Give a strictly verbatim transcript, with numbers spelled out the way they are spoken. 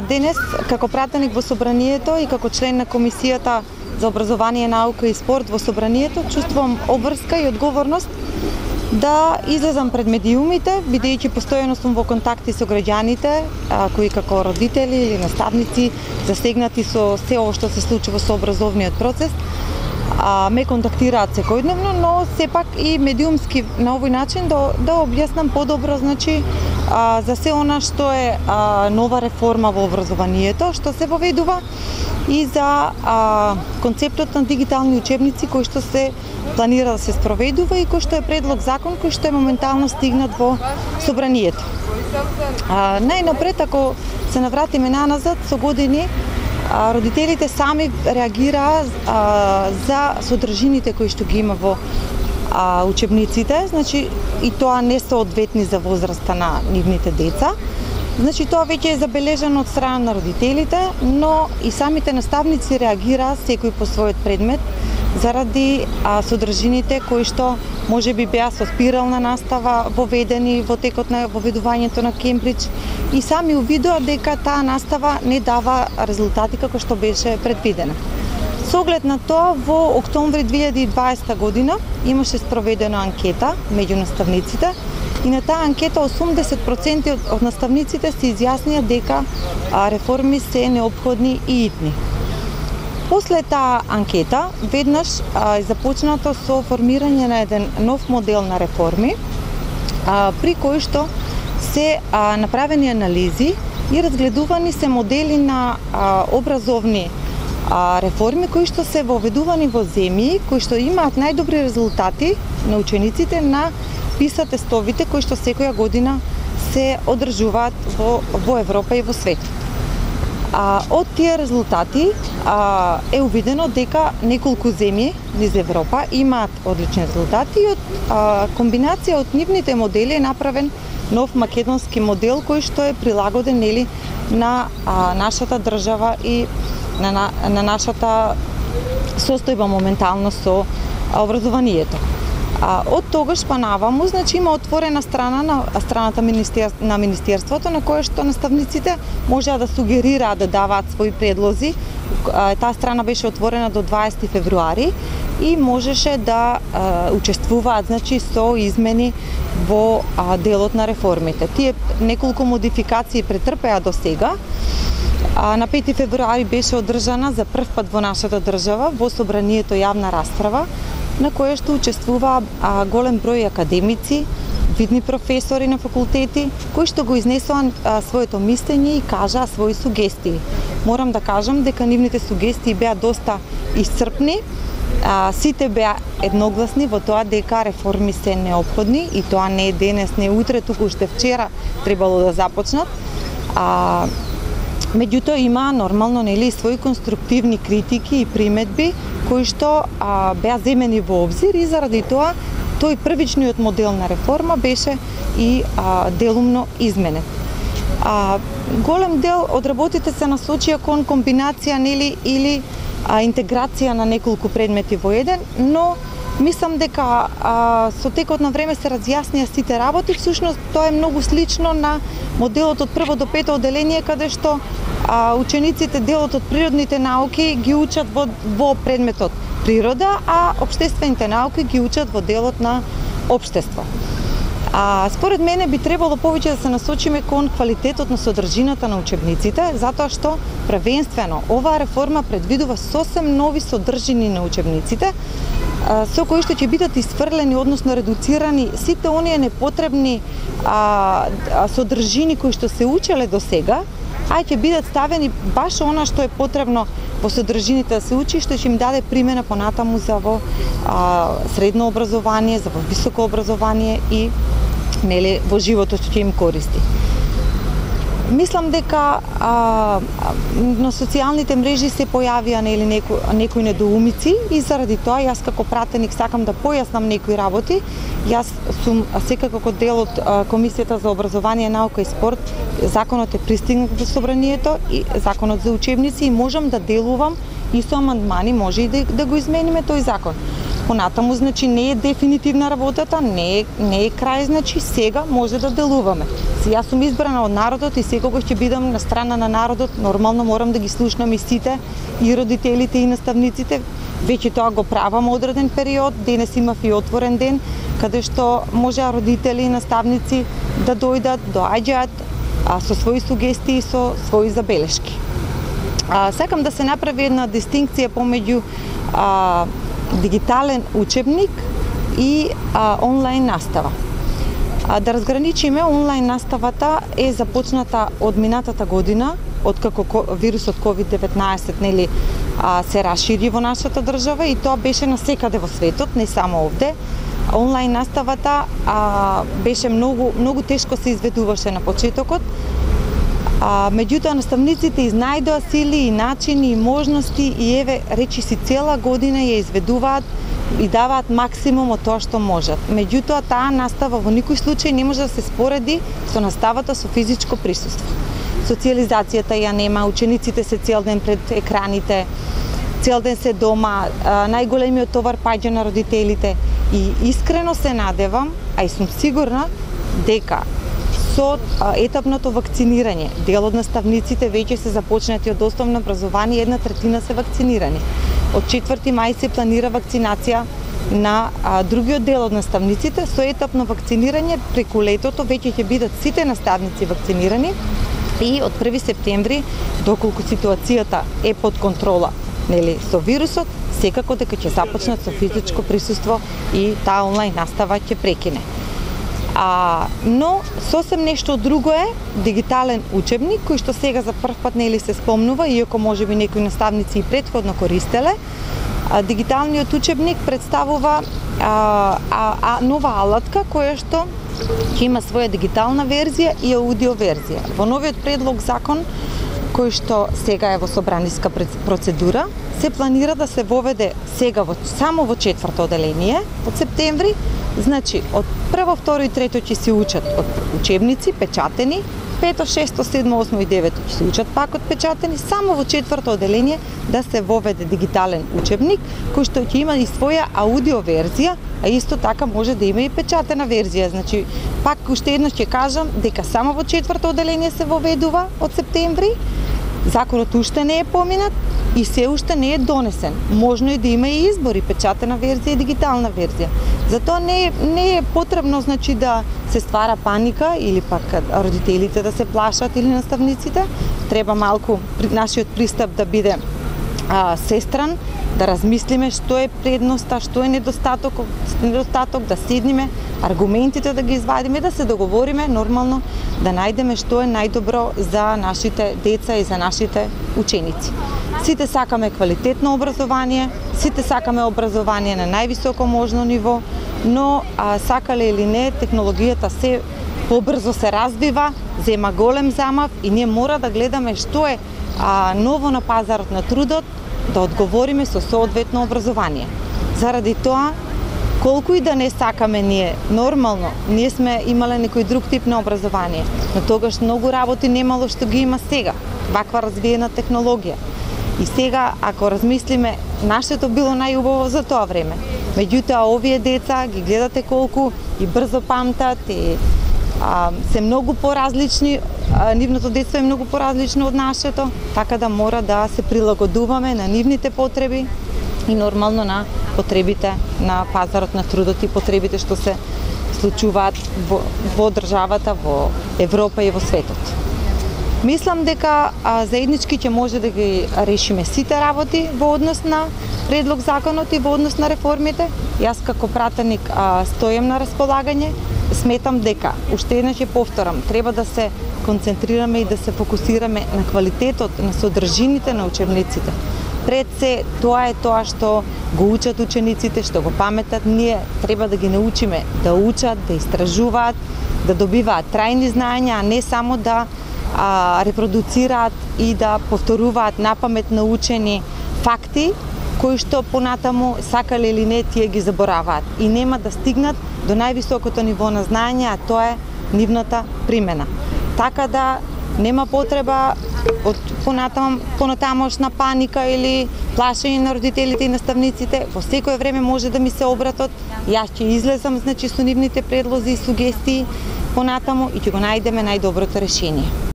денес како пратеник во собранието и како член на Комисијата за образование, наука и спорт во собранието чувствувам обврска и одговорност да излезам пред медиумите, бидејќи постојано сум во контакти со граѓаните, а, кои како родители или наставници засегнати со се ова што се случува со образовниот процес, а, ме контактираат секојдневно, но сепак и медиумски на овој начин да, да објаснам подобро, значи, а, за се она што е а, нова реформа во образованието, што се воведува, и за а, концептот на дигитални учебници кој што се планира да се спроведува и кој што е предлог закон кој што е моментално стигнат во собранието. А, најнапред, ако се навратиме наназад со години, а, родителите сами реагираа а, за содржините кои што ги има во а, учебниците, значи и тоа не соодветни за возраста на нивните деца. Значи тоа веќе е забележано од страна на родителите, но и самите наставници реагираа секој по својот предмет заради а, содржините кои што можеби беа со спирална настава воведени во текот на воведувањето на Кембридж и сами увидоа дека таа настава не дава резултати како што беше предвидена. Со оглед на тоа, во октомври две илјади и дваесета година имаше спроведена анкета меѓу наставниците и на таа анкета осумдесет проценти од, од наставниците се изјаснија дека а, реформи се неопходни и итни. После таа анкета, веднаш а, е започнато со формирање на еден нов модел на реформи, а, при кој што се а, направени анализи и разгледувани се модели на а, образовни а, реформи кои што се воведувани во земји кои што имаат најдобри резултати на учениците на PISA тестовите кои што секоја година се одржуваат во, во Европа и во светот. А, од тие резултати а, е увидено дека неколку земји низ Европа имаат одлични резултати и од а, комбинација од нивните модели е направен нов македонски модел кој што е прилагоден нели на а, нашата држава и на, на, на нашата состојба моментално со а, образованието. А, од тогаш па наваму, значи има отворена страна на страната министер, на министерството на која што наставниците можеа да сугерираат да даваат своји предлози. А, таа страна беше отворена до дваесети февруари и можеше да а, учествуваат, значи, со измени во а, делот на реформите. Тие неколку модификации претрпеа до сега. А, на пети февруари беше одржана за прв пат во нашата држава во собранието јавна расправа на која што учествува а, голем број академици, видни професори на факултети, кои што го изнесоа а, своето мислење и кажаа своји сугестии. Морам да кажам дека нивните сугестии беа доста исцрпни, а, сите беа едногласни во тоа дека реформи се неопходни и тоа не е денес, не е утре, туку уште вчера требало да започнат. А, меѓутоа има нормално нели своји конструктивни критики и приметби кои што а, беа земени во обзир и заради тоа тој првичниот модел на реформа беше и а, делумно изменет. А, голем дел од работите се насочија кон комбинација нели или а, интеграција на неколку предмети во еден, но мислам дека а, со текот на време се разјаснија сите работи. Всушност тоа е многу слично на моделот од прво до пето одделение, каде што а, учениците делот од природните науки ги учат во, во предметот природа, а општествените науки ги учат во делот на општество. А, според мене би требало повеќе да се насочиме кон квалитетот на содржината на учебниците, затоа што првенствено оваа реформа предвидува сосем нови содржини на учебниците, со кои што ќе бидат исфрлени, односно редуцирани сите оние непотребни а, содржини кои што се учеле до сега, а ќе бидат ставени баш она што е потребно во содржините да се учи, што ќе им даде примена понатаму за во а, средно образование, за во високо образование и нели во животот што ќе им користи. Мислам дека а, на социјалните мрежи се појавија нели неко, некои недоумици и заради тоа јас како пратеник сакам да појаснам некои работи. Јас сум секако како дел од а, Комисијата за образование, наука и спорт. Законот е пристигнат во собранието и законот за учебници и можам да делувам и со амандмани може и да, да го измениме тој закон. Понатаму, значи, не е дефинитивна работата, не е, не е крај, значи, сега може да делуваме. Си, јас сум избрана од народот и секогаш ќе бидам на страна на народот, нормално морам да ги слушнам и сите, и родителите, и наставниците. Веќе тоа го правам одреден период, денес имав и отворен ден, каде што може родители и наставници да дојдат, доаѓаат а, со своји сугестии, со своји забелешки. А, сакам да се направи една дистинкција помеѓу а, дигитален учебник и а, онлайн настава. А, да разграничиме, онлайн наставата е започната од минатата година, откако вирусот ковид деветнаесет нели а, се расшири во нашата држава и тоа беше насекаде во светот, не само овде. Онлайн наставата а, беше многу многу тешко се изведуваше на почетокот. А, меѓутоа наставниците изнајдоа сили и начини и можности и еве речиси цела година ја изведуваат и даваат максимум од тоа што можат. Меѓутоа таа настава во никој случај не може да се спореди со наставата со физичко присуство. Социализацијата ја нема, учениците се цел ден пред екраните, цел ден се дома, најголемиот товар паѓа на родителите и искрено се надевам, а и сум сигурна дека со етапното вакцинирање, дел од наставниците веќе се започнати од основно образование, една третина се вакцинирани. Од четврти мај се планира вакцинација на а, другиот дел од наставниците, со етапно вакцинирање преку летото веќе ќе бидат сите наставници вакцинирани и од први септември, доколку ситуацијата е под контрола, нели, со вирусот, секако дека ќе започнат со физичко присуство и таа онлайн настава ќе прекине. А, но сосем нешто друго е дигитален учебник кој што сега за прв пат нели се спомнува, иако можеби некои наставници и претходно користеле. А, дигиталниот учебник представува а, а, а, нова алатка која што ќе има своја дигитална верзија и аудио верзија. Во новиот предлог закон кој што сега е во собраниска процедура, се планира да се воведе сега во, само во четврто оделение од септември. Значи, од прво, второ и трето ќе се учат од учебници, печатени, пето, шесто, седмо, осмо и девето ќе се учат пак од печатени, само во четврто оделение да се воведе дигитален учебник, кој што ќе има и своја аудио верзија, а исто така може да има и печатена верзија. Значи, пак уште еднаш ќе кажам дека само во четврто оделение се воведува од септември, законот уште не е поминат и се уште не е донесен. Можно е да има и избори, печатена верзија и дигитална верзија. Затоа не е, не е потребно, значи, да се ствара паника или пак родителите да се плашат или наставниците. Треба малку нашиот пристап да биде а, сестран, да размислиме што е предноста, што е недостаток, недостаток, да седниме, аргументите да ги извадиме, да се договориме нормално, да најдеме што е најдобро за нашите деца и за нашите ученици. Сите сакаме квалитетно образование, сите сакаме образование на највисоко можно ниво, но а, сакале или не, технологијата се побрзо се развива, зема голем замав и ние мора да гледаме што е а, ново на пазарот на трудот, да одговориме со соодветно образование. Заради тоа, колку и да не сакаме ние, нормално, ние сме имале некој друг тип на образование, но тогаш многу работи немало што ги има сега, ваква развиена технологија. И сега, ако размислиме, нашето било најубаво за тоа време. Меѓутоа, овие деца ги гледате колку и брзо памтат, и а, се многу поразлични, а, нивното детство е многу поразлично од нашето, така да мора да се прилагодуваме на нивните потреби и нормално на потребите на пазарот на трудот и потребите што се случуваат во, во државата, во Европа и во светот. Мислам дека а, заеднички ќе може да ги решиме сите работи во однос на предлог законот и во однос на реформите. Јас како пратеник а, стојам на располагање. Сметам дека, уште еднаш ќе повторам, треба да се концентрираме и да се фокусираме на квалитетот, на содржините на учебниците. Пред се, тоа е тоа што го учат учениците, што го паметат. Ние треба да ги научиме да учат, да истражуваат, да добиваат трајни знаења, а не само да а, репродуцираат и да повторуваат напамет научени факти, кои што понатаму, сакале или не, тие ги забораваат и нема да стигнат до највисокото ниво на знаење, а тоа е нивната примена. Така да нема потреба од понатам понатамошна паника или плашење на родителите и наставниците, во секое време може да ми се обратат. Јас ќе излезам значи со нивните предлози и сугестии понатаму и ќе го најдеме најдоброто решение.